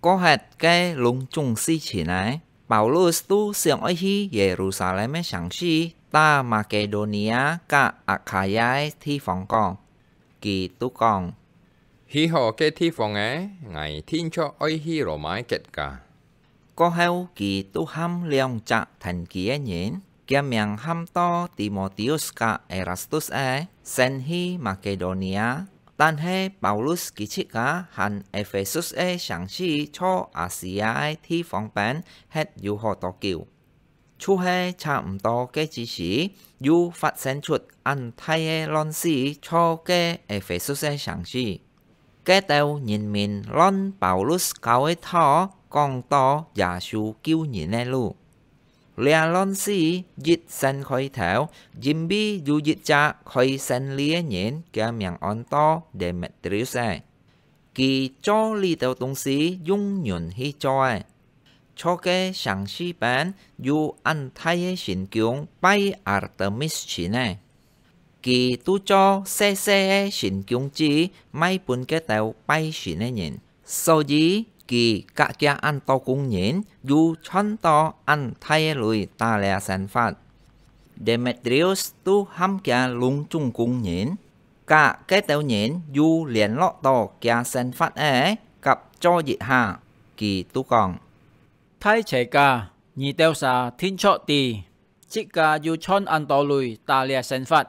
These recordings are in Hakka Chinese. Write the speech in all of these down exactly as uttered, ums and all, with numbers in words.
過忒該攏總事情仔，Paulus都想愛去Yerusalem个城市，搭Makedonia佮Akhaya个地方講。佢都講：「去好該地方仔，𠊎定著愛去羅馬个國家。」過後，佢都喊兩隻跈佢个人，厥名喊到Timotheus佮Erastus个，先去Makedonia。但係Paulus佢自家還Ephesus个城市在Asia个地方邊歇有好多久。就係差毋多該之時，又發生出恁大个亂事，在該Ephesus个城市。 該兜人民亂Paulus教个道，講到耶穌救人个路。這亂事一先開頭，因為有一隻開生理个人，厥名安到Demetrius个。佢做這兜東西用銀去做个。 在該城市邊有恁大个神宮拜Artemis神个。佢都做細細个神宮子賣分該兜拜神个人，所以佢佮厥恁多工人又賺到恁大个鐳打這生活。Demetrius都喊厥攏總工人， 佮該兜人又聯絡到厥生活个，合作一下，佢都講：「大齊家，你兜儕定著知，自家又賺恁多鐳打這生活，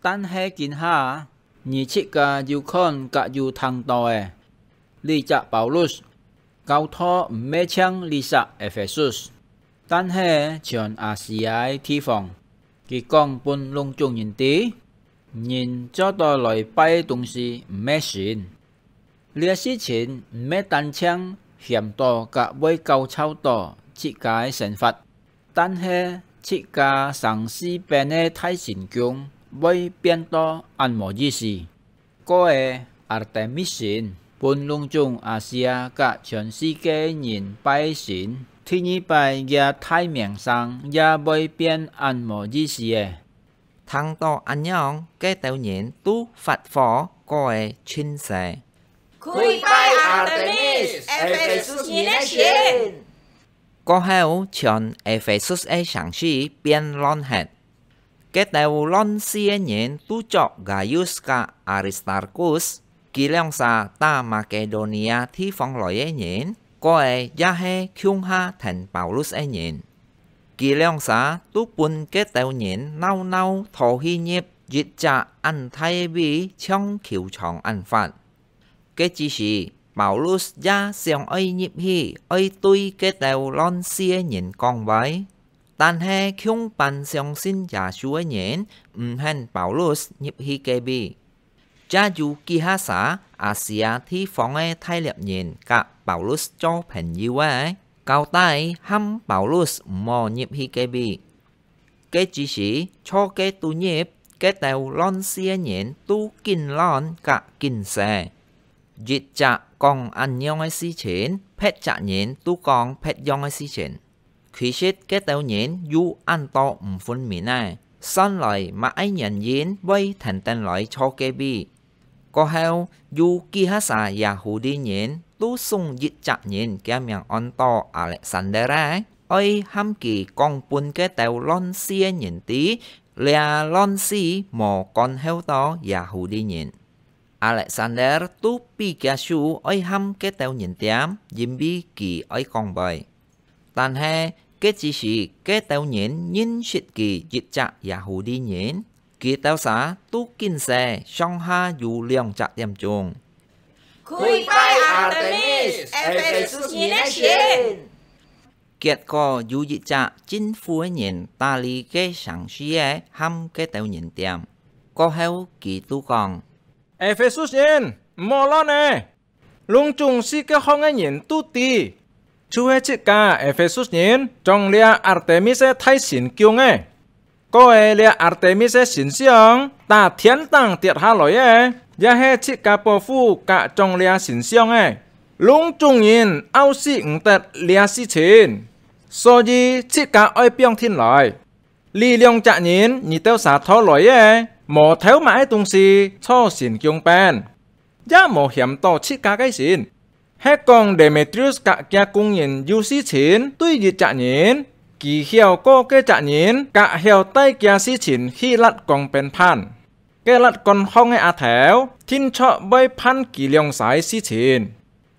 但係今下，你自家有看佮有聽到个，這隻Paulus，教導毋係淨這隻Ephesus，但係全Asia个地方。佢講分攏總人知， 人做到來拜个東西毋係神。」這事情毋係單淨險到佮會搞臭到自家个生活，但係自家城市邊个大神宮會變到恁無意思。該个Artemis神，分攏總Asia佮全世界人拜个神，第二擺厥大名聲也會變恁無意思个。 聽到恁樣，該兜人都發火，過个盡勢。「跪拜Artemis，Ephesus人个神！」過後，全Ephesus个城市變亂忒。該兜亂事个人都著Gaius佮Aristarkus，佢兩儕打Makedonia地方來个人，過个也係共下跈Paulus个人。 佢兩儕都分該兜人鬧鬧討去入一隻恁大个位，像球場恁闊。該之時，Paulus也想愛入去，愛對該兜亂事个人講話，但係共班相信耶穌个人毋肯Paulus入去該位。 也有幾下儕Asia地方个大力人佮Paulus做朋友个，交代喊Paulus毋好入去該位。該之時，在該肚入，該兜亂事个人都緊亂佮緊勢。一隻講恁樣个事情，別隻人都講別樣个事情。 其實該兜人有恁多毋分明个，算來麼个原因會跈等來坐該位。過後，有幾下儕Yahudi人都送一隻人，厥名安到Alexander个，愛喊佢講分該兜亂事个人知，這亂事無干擾到Yahudi人。Alexander都比厥手愛喊該兜人恬，因為佢愛講話。 但係，該之時，該兜人認識佢一隻Yahudi人，佢兜儕都緊勢上下有兩隻點鐘。「跪拜Artemis，Ephesus人个神！」結果有一隻政府个人打理該城市个，喊該兜人恬。過後，佢都講：「Ephesus人，毋好亂咧！ 攏總四角項个人都知，就係自家Ephesus人撞這Artemis个大神宮个。過个這Artemis个神像，打天頂跌下來个，也係自家保護佮撞這神像个。攏總人拗死毋得這事情，所以自家愛放定來。這兩隻人你兜儕拖來个，無偷麼个東西坐神宮邊，也無險到自家个神。係講Demetrius格厥工人有事情對一隻人，佢曉過該隻人，格曉帶厥事情去摎講分伴。該摎管項个阿頭，定著會伴佢兩儕事情。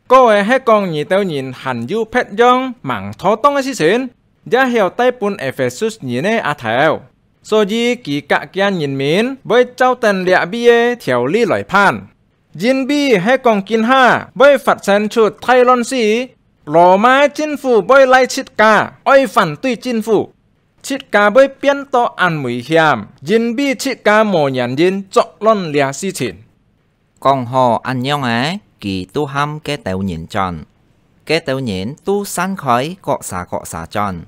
過个係講你兜人還有別樣吂妥當个事情，也曉帶分Ephesus人个阿頭。所以佢格厥人民會照等這位个條例來辦。因為係講今下會發生出大亂世，羅馬政府會賴自家，愛反對政府。自家會變到恁危險，因為自家無原因作亂這事情。講好恁樣仔，佢都喊該兜人轉。該兜人都散開，各儕各儕轉。